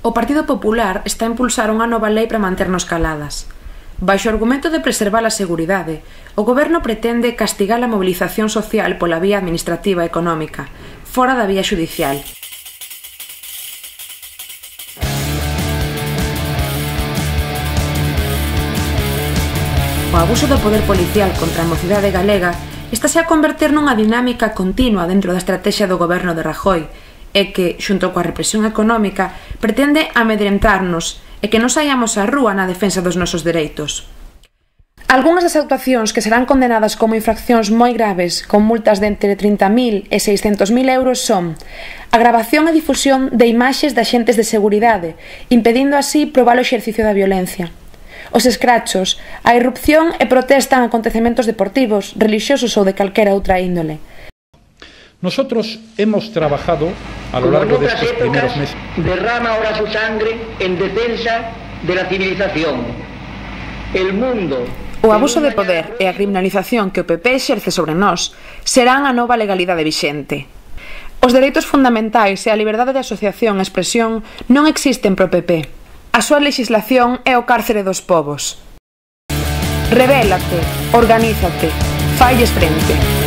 O Partido Popular está a impulsar unha nova lei para manternos caladas. Baixo o argumento de preservar a seguridade, o Goberno pretende castigar a mobilización social pola vía administrativa e económica, fora da vía xudicial. O abuso do poder policial contra a mocidade galega estáse a converter nunha dinámica continua dentro da estrategia do Goberno de Rajoy e que, xunto coa represión económica, pretende amedrentarnos e que non saíamos á rúa na defensa dos nosos dereitos. Algúnas das actuacións que serán condenadas como infraccións moi graves con multas de entre 30.000 e 600.000 euros son a gravación e difusión de imaxes de axentes de seguridade, impedindo así probar o exercicio da violencia. Os escrachos, a irrupción e protesta en acontecementos deportivos, relixiosos ou de calquera outra índole. Nosotros hemos trabajado a lo largo de estos primeros meses. Derrama ahora su sangre en defensa de la civilización. El mundo. O abuso de poder e a criminalización que o PP exerce sobre nós serán a nova legalidade vixente. Os dereitos fundamentais e a liberdade de asociación e expresión non existen pro PP. A súa legislación é o cárcere dos povos. Rebélate, organízate, falles frente.